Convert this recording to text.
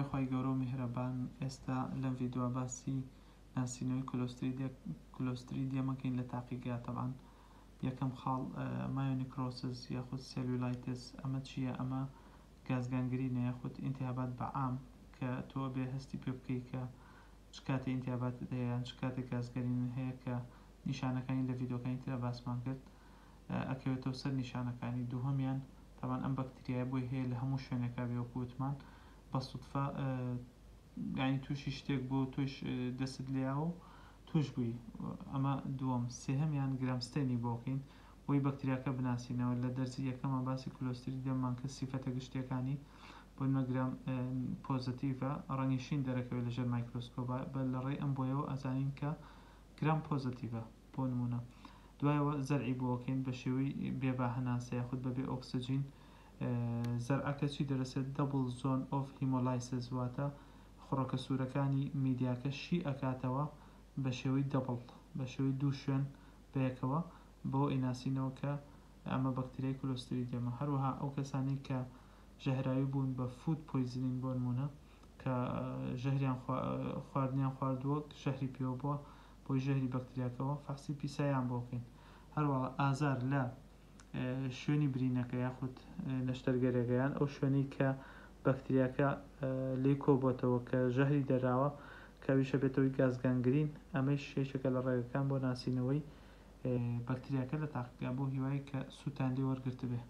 خوای گەورە و میهرەبان ئێستا لەم ڤیدۆە باسی ناسینەوەی کلۆستریدیەم ئەکەین لە تاقیگە تەبعەن یەکەم خاڵ مایۆنیکرۆسس یاخود سێلولاایتس ئەمە چییە ئەمە گازگانگرینە یاخود ئینتیهابات بە عام کە تۆ بێ هەستی پێ بکەی کە چ کاتێ ئینتیهاباتت هەیە یان چ کاتێک گازگەرینت هەیە کە نیشانەکانی لە ڤیدۆکانی ترا باسمان کرد ئەکەوێتەوە سەر نیشانەکانی دووهەمیان تەبعەن ئەم بەکتریایە بۆی هەیە لە هەموو شوێنێکا بێ وەکو وتمان بە سوتفە یانی تووشی شتێک بوو تۆش دەستت لێیاوە و توش بووی ئەمە دووەم سێهەمیان گرام ستەینی بۆکەین بۆی بەکتریاکە بناسینەوە لە دەرزی یەکەمە باسی کلۆستریدیەممان کرد سیفەتە گشتیەکانی بۆ نمە گرام پۆزەتیڤە ڕەنگی شین دەرەکەوێت لەژێر مایکرۆسکۆبا بە لە ڕێی ئەم بۆیەوە ئەزانین کە گرام پۆزەتیڤە بۆ نموونە دوایەوە زەرعی بۆ ئەکەین بە شێوەی بێ با هەناسە یاخود بەبێ ئۆکسجین زەرعەکە چی دەرەسێت دەبڵ زۆن ئۆف هیمۆلایسس واتە خڕۆکە سوورەکانی میدیاکە شی ئەکاتەوە بە شێوەی دەبڵ بە شێوەی دوو شوێن بەیەکەوە بەوە ئەیناسینەوە کە ئەمە بەکتریای کلۆستریدیەمە هەروەها ئەو کەسانەی کە ژەهراوی بوون بە فود پۆیزنین بۆ نموونە کە ژەهریان خواردنیان خواردووە ژەهری پێوە بووە بۆی ژەهری بەکتریاکەوە فەحسی پیسایان بۆ بکەین هەروەها ئازار لە شوێنی برینەکە یاخود نەشتەرگەرێکە یان ئەو شوێنەی کە بەکتریاکە لێی کۆبۆتەوە کە ژەهری دەراوە کە ئەویش ئەبێتەوەی گازگانگرین ئەمەیش یەکێکە لە ڕێگەکان بۆ ناسینەوەی بەکتریاکە لە تاقیگا بۆ هیوای کە سوودتان لێ وەرگرتبێ.